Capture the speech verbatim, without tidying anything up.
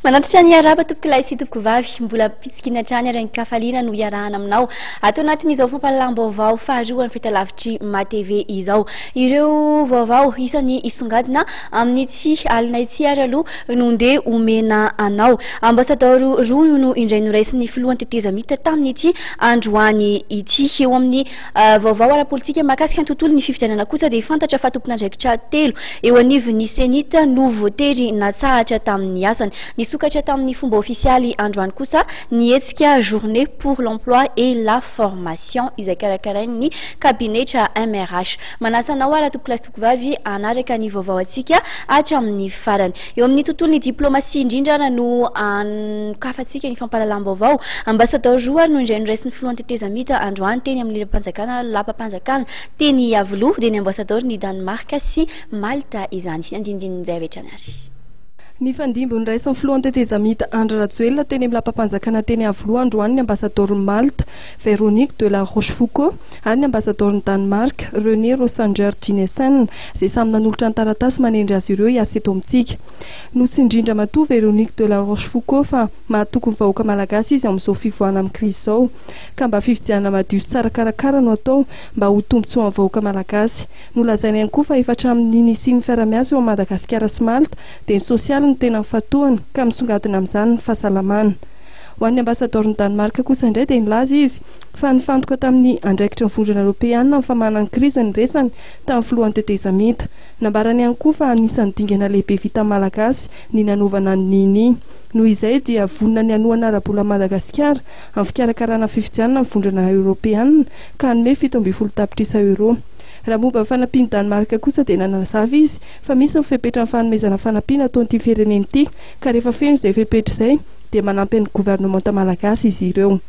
Manantitra ny araba, tompoko lahy sy tompoko vavy. Mbola pitsikina hatrany ary an-kafaliana no iarahana aminao ato anatin'izao fampahalalam-baovao faharoa ny fahitalavitry M A T V izao. Ireo vaovao isany isongadina amin'ny tsy alina itsy ary aloha no ndeha omena anao. Ambasadaoro roa no indray noraisin'ny filohan'ny tetezamita tamin'ity androany ity. Eo amin'ny uh, vaovao ara-politika mahakasika ny tontolo ny fifidianana kosa, dia fantatra fa tompon'andraikitra telo eo anivon'ny CENI-T no voatery natsahatra tamin'ny asany. Nisokatra tamin'ny fomba ofisialy androany kosa ny hetsika Journée pour l'emploi et la formation izay karakarain'ny kabinetra M R H. Manasa anao ara, tompoko lahy sy tompoko vavy, anaraka ny vaovao atsika hatramin'ny farany. Eo amin'ny tontolo ny diplomasia indrindra no anokafantsika ny fampahalalam-baovao. Ambasadaoro roa no indray noraisin'ny filohan'ny tetezamita androany teny amin'ny lepampanjakana lapampanjakana teny Iavoloha, dia ny ambasadaoro ny Danemark sy Malta izany. Andindinin'izay avy hatrany ary. Ny fandimby noraisin'ny filohan'ny tetezamita Andry Rajoelina teny amin'ny lapampanjakana teny Iavoloha androany ny ambasadaoron'ny Malta, Véronique de la Rochefoucauld, ary ny ambasadaoron'ny Danemark, René Rosanger Dinesen, izay samy nanolotra ny taratasy manendry azy ireo hiasa eto amintsika. Notsindrindra matoa Véronique de la Rochefoucauld fa mahatoky ny vahoaka malagasy izy amin'izao fivoahana amin'ny krizy izao, ka mba fifidianana madio sy tsara karakara no atao mba ho tombontsoa amin'ny vahoaka malagasy. Nolazaina ihany koa fa efa hatramin'ny nisian'ny fiarahamiasa eo amin'ny Madagasikara sy Malta, dia ny sosialy no tena mifantohana, ka misongadina amin'izany ny fahasalamana. Ho an'ny ambasadaoron'ny Danemark kosa indray, dia nilaza izy fa nifantoka tamin'ny andraikitra ny Vondrona Eoropeanina amin'ny famahana ny krizy ny resany tamin'ny filohan'ny tetezamita. Nambarany ihany koa fa anisan'ny dingana lehibe vita malagasy ny nanaovana ny N I N I. Noho izay dia vonona ny hanohana ara-bola Madagasikara amin'ny fikarakarana fifidianana ny Vondrona Eoropeanina, ka hanome fito ambin'ny folo tapitrisa euro. Raha momba ny fanampian'ny Danemark kosa, dia nanazava izy fa misy ny fepetra ny fanomezana fanampiana ataon'ity firenena ity, ka rehefa feno izay fepetra izay dia manampy ny governemanta malagasy izy ireo.